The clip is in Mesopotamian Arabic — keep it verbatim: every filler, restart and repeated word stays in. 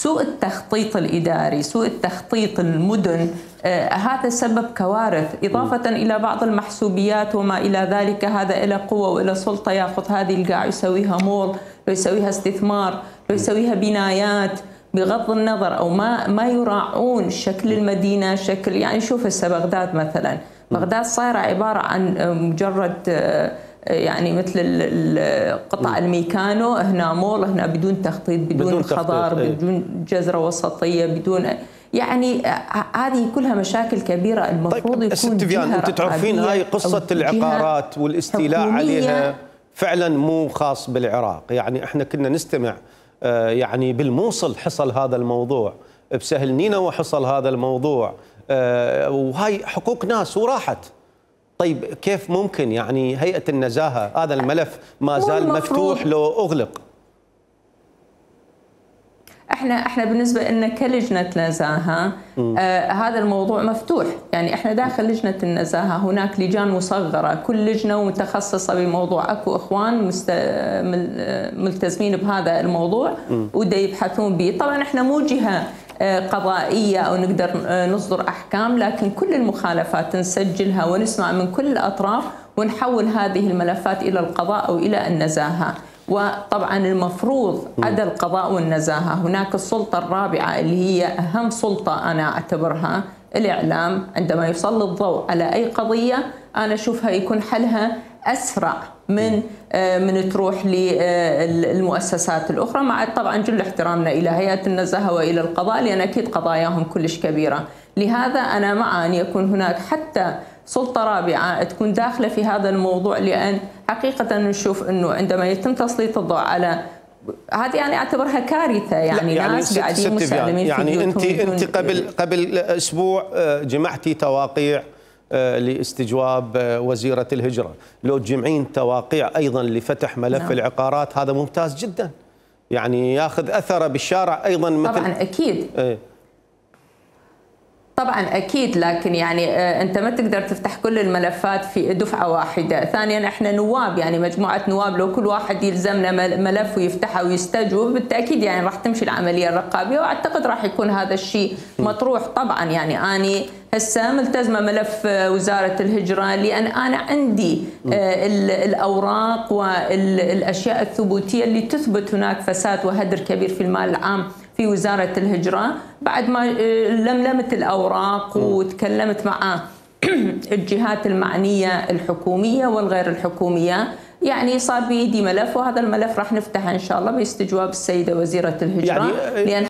سوء التخطيط الإداري، سوء التخطيط المدن، آه هذا سبب كوارث، إضافة م. إلى بعض المحسوبيات وما إلى ذلك. هذا إلى قوة وإلى سلطة، يأخذ هذه القاع يسويها مول، لو يسويها استثمار، لو يسويها بنايات، بغض النظر أو ما ما يراعون شكل المدينة، شكل يعني شوف هسه بغداد مثلا، بغداد صايرة عبارة عن مجرد يعني مثل قطع الميكانو، هنا مول، هنا بدون تخطيط، بدون, بدون خضار، ايه. بدون جزرة وسطية، بدون يعني هذه كلها مشاكل كبيرة المفروض طيب يكون جهة انت تعرفين هاي قصة العقارات والاستيلاء عليها فعلا مو خاص بالعراق، يعني احنا كنا نستمع يعني بالموصل حصل هذا الموضوع، بسهل نينوى حصل هذا الموضوع، وهاي حقوق ناس وراحت. طيب كيف ممكن يعني هيئة النزاهة هذا الملف ما زال مفتوح لو أغلق؟ احنا احنا بالنسبه لنا كلجنه نزاهه آه هذا الموضوع مفتوح، يعني احنا داخل لجنه النزاهه هناك لجان مصغره، كل لجنه متخصصه بموضوع، اكو اخوان مست... ملتزمين بهذا الموضوع ودا يبحثون به. طبعا احنا مو جهه قضائيه او نقدر نصدر احكام، لكن كل المخالفات نسجلها ونسمع من كل الاطراف ونحول هذه الملفات الى القضاء او الى النزاهه. وطبعا المفروض عدا القضاء والنزاهة هناك السلطة الرابعة اللي هي أهم سلطة أنا أعتبرها الإعلام. عندما يسلط الضوء على أي قضية أنا أشوفها يكون حلها أسرع من من تروح للمؤسسات الأخرى، مع طبعا جل احترامنا إلى هيئة النزاهة وإلى القضاء، لأن أكيد قضاياهم كلش كبيرة. لهذا أنا مع أن يكون هناك حتى سلطة رابعة تكون داخلة في هذا الموضوع، لأن حقيقة نشوف أنه عندما يتم تسليط الضوء على هذه يعني أعتبرها كارثة، يعني, يعني ناس قاعدين مسالمين يعني في أنت أنت قبل قبل أسبوع جمعتي تواقيع لاستجواب وزيرة الهجرة، لو تجمعين تواقيع أيضا لفتح ملف نعم. العقارات هذا ممتاز جدا، يعني ياخذ أثره بالشارع أيضا مثل طبعا أكيد ايه. طبعا اكيد، لكن يعني انت ما تقدر تفتح كل الملفات في دفعه واحده. ثانيا احنا نواب، يعني مجموعه نواب، لو كل واحد يلزمنا ملف ويفتحه ويستجوب بالتاكيد يعني راح تمشي العمليه الرقابيه، واعتقد راح يكون هذا الشيء مطروح. طبعا يعني اني هسه ملتزمه ملف وزاره الهجره، لان انا عندي الاوراق والاشياء الثبوتيه اللي تثبت هناك فساد وهدر كبير في المال العام في وزارة الهجرة. بعد ما لملمت الأوراق وتكلمت مع الجهات المعنية الحكومية والغير الحكومية، يعني صار بيدي ملف، وهذا الملف راح نفتحه إن شاء الله باستجواب السيدة وزيرة الهجرة، يعني لأن